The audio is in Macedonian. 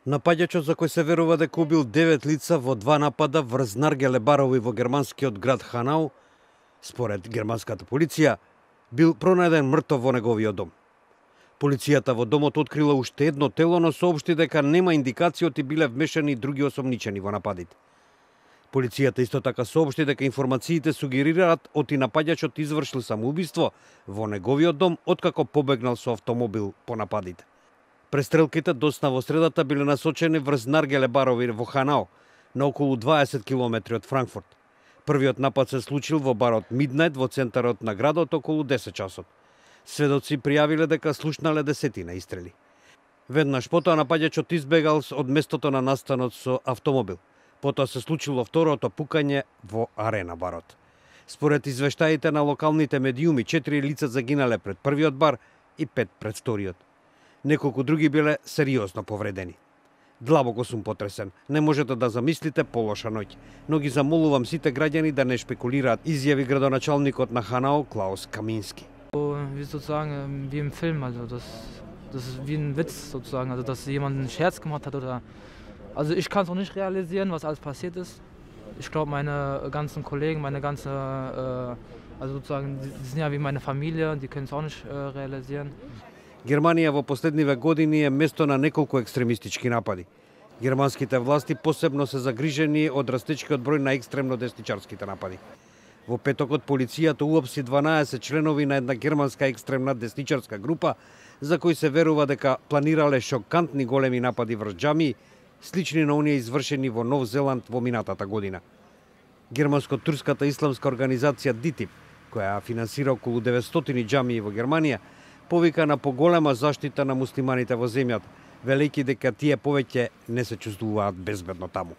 Напаѓачот, за кој се верува дека убил 9 лица во 2 напада врз наргеле барови во германскиот град Ханау, според германската полиција, бил пронајден мртов во неговиот дом. Полицијата во домот открила уште едно тело, но соопшти дека нема индикации оти биле вмешани и други осомничени во нападите. Полицијата исто така соопшти дека информациите сугерираат оти напаѓачот извршил самоубиство во неговиот дом откако побегнал со автомобил по нападите. Престрелките досна во средата биле насочени врз наргеле барови во Ханау, на околу 20 километри од Франкфурт. Првиот напад се случил во барот Миднајт во центарот на градот околу 10 часот. Сведоци пријавиле дека слушнале десетина истрели. Веднаш потоа напаѓачот избегал од местото на настанот со автомобил. Потоа се случило второто пукање во арена барот. Според извештаите на локалните медиуми, 4 лица загинале пред првиот бар и 5 пред вториот. Неколку други биле сериозно повредени. Длабоко сум потресен. Не можете да замислите полоша ноќ. Но ги замолувам сите граѓани да не шпекулираат, изјави градоначалникот на Ханау Клаус Камински. Wie sozusagen wie im Film, also das ist wie ein Witz sozusagen, also dass jemand einen Scherz gemacht hat oder. Also ich kann es auch nicht realisieren, was alles passiert ist. Ich glaube, meine ganzen Kollegen, also sozusagen, die sind ja wie meine Familie, die können es auch nicht realisieren. Германија во последниве години е место на неколку екстремистички напади. Германските власти посебно се загрижени од растечкиот број на екстремно десничарските напади. Во петокот полицијата уапси 12 членови на една германска екстремна десничарска група, за кои се верува дека планирале шокантни големи напади врз џамии, слични на оние извршени во Нов Зеланд во минатата година. Германско-турската исламска организација ДИТИП, која финансира околу 900 џамии во Германија, повика на поголема заштита на муслиманите во земјата, велејќи дека тие повеќе не се чувствуваат безбедно таму.